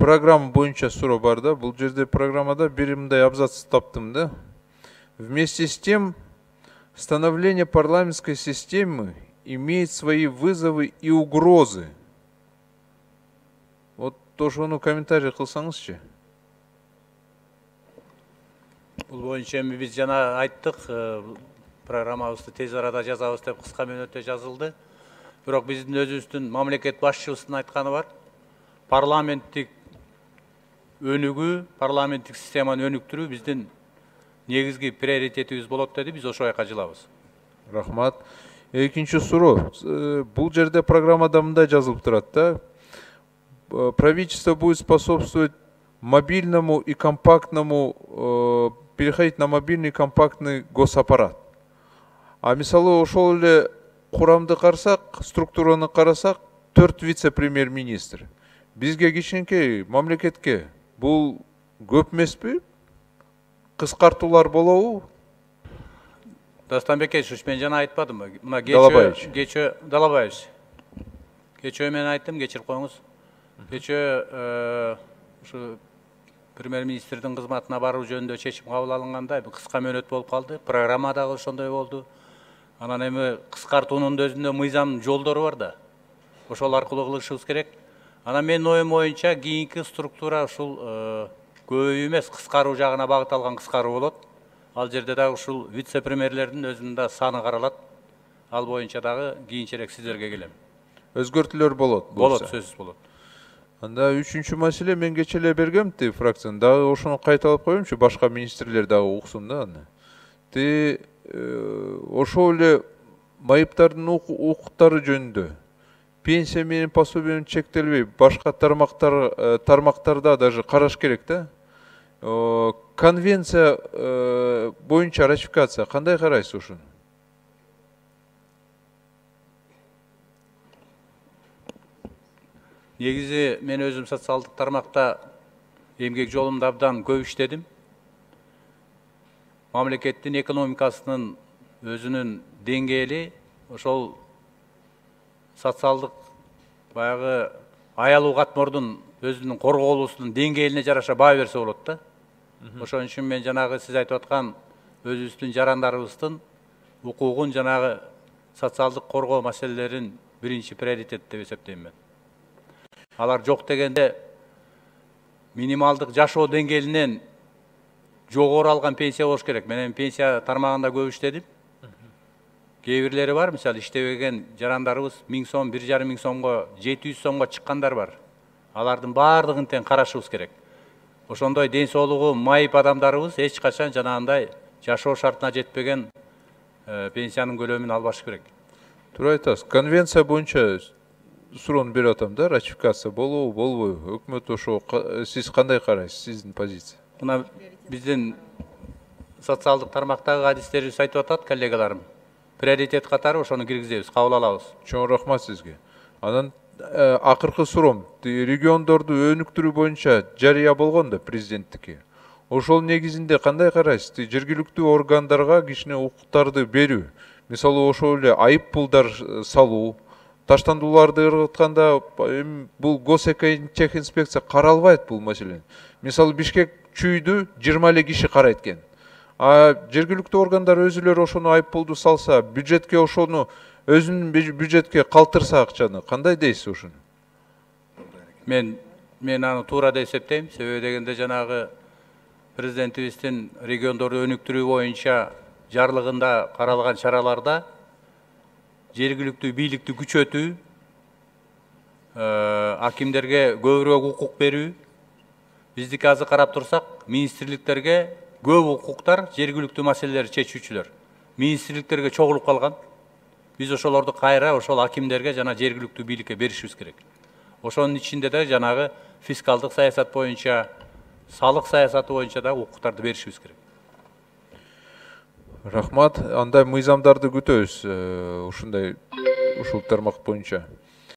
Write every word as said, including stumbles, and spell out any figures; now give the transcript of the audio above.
программа боюнча суроо бар да. Бул жерде программада бир мындай абзац таптым да. Вместе с тем, становление парламентской системы имеет свои вызовы и угрозы. Вот тоже onu комментарий кылсаңызчы. Бул боюнча эми биз жана айттык, программабызды тез арада жазабыз деп кыска мөөнөттө жазылды. Бирок биздин өзүбүздүн мамлекет башчыбыздын айтканы бар. Парламенттик өнүгүү, парламенттик системаны өнүктүрүү биздин негизги приоритетибиз болот деди. Биз ошо жака жылабыз. Рахмат. Экинчи суроо. Бул жерде программада мындай жазылып турат да. Правительство будет способствовать мобильному и компактному, э, переходить на мобильный и компактный госаппарат. А мисалы ошол эле курамды карасак, структураны карасак, төрт вице-премьер-министр. Бизге кичинекей мамлекетке бул көп эмеспи? Кыскартуулар болобу? Дастанбек эч, мен жана айтпадымбы? Мына Далабаевич. Кечөө Далабаевич. Кечөө мен айттым, кечирип коюңуз. Кечөө ушу премьер-министрдин кызматына баруу жөнүндө чечим кабыл алынганда кыска мөөнөт болуп калды. Программа дагы ошондой болду. Анан эми кыскартуунун өзүндө мыйзам жолдору бар да. Ошол аркылуу кылышыбыз керек. Анан менин оюм боюнча кийинки структура ушул көбөйүү эмес, кыскаруу жагына багыт алган кыскаруу болот. Ал жерде дагы ушул вице-премьерлердин өзүнүн да саны каралат. Ал боюнча дагы кийинчерээк сиздерге келем. Өзгөртүүлөр болот. Болот, сөзсүз болот. Анда үчүнчү маселе мен кече эле бергем ти фракцияны. Дагы ошону кайталап коеюмчу, башка министрлер дагы уксун да аны. Ти ошол эле майыптардын укуктары жөнүндө пенсия менен пособиянын чектелбей башка тармактар тармактарда даже караш керек да. Конвенция боюнча ратификация кандай карайсыз ушуну? Негизи мен өзүм социалдык тармакта эмгек жолумда абдан көп иштедим. Мамлекеттин экономикасынын өзүнүн деңгээли ошол социалдык баягы аялуу катмордун өзүнүн корголуусунун деңгээлине жараша баа берсе болот да. Ошон үчүн мен жанагы сиз айтып аткан өзүбүздүн жарандарыбыздын укугун жанагы социалдык коргоо маселелерин биринчи приоритет деп эсептейм мен. Алар жок дегенде минималдык жашоо деңгээлинен жогору алган пенсия болуш керек. Мен эми пенсия тармагында көп иштедим. Кээ бирлери бар, мисалы иштебеген жарандарыбыз миң сом, бир жарым миң сомго, жети жүз сомго чыккандар бар. Алардын баардыгын тең карашыбыз керек. Ошондой ден соолугу майып адамдарыбыз эч качан жанагындай жашоо шартына жетпеген пенсиянын көлөмүн албашы керек. Туура айтасыз. Конвенция боюнча суроону берип атам да, ратификация болобу, болбойбу? Өкмөт ошо сиз кандай карайсыз, сиздин позиция? Мына биздин социалдык тармактагы адистерибиз айтып атат, коллегаларым. Приоритет катары ошону киргизебиз, кабыл алабыз. Чоң рахмат сизге. Анан акыркы суроом, региондорду өнүктүрүү боюнча жарыя болгон да президенттики. Ошол негизинде кандай карайсыз? Жергиликтүү органдарга кичине укуктарды берүү. Мисалы ошол эле айып пулдар салуу, таштандууларды ыргытканда бул госэкотехинспекция каралбайт бул маселени. Мисалы Бишкек чүйдү жыйырма эле киши карайт экен. А жергиликтүү органдар өзүлөрү ошону айып пулду салса, бюджетке ошону өзүнүн бюджетке калтырса акчаны, кандай дейсиз ушуну? Мен мен аны туура деп эсептейм. Себеби дегенде жанагы президентибиздин региондорду өнүктүрүү боюнча жарлыгында каралган чараларда жергиликтүү бийликти күчөтүү, акимдерге көбүрөөк укук берүү. Биздики азыр карап турсак, министрликтерге көп укуктар жергиликтүү маселелерди чечүүчүлөр. Министрликтерге чогулуп калган. Биз ошолорду кайра ошол акимдерге жана жергиликтүү бийликке беришибиз керек. Ошонун ичинде да жанагы фискалдык саясат боюнча, салык саясаты боюнча да укуктарды беришибиз керек. Рахмат. Андай мыйзамдарды күтөбүз ушундай ушул тармак боюнча.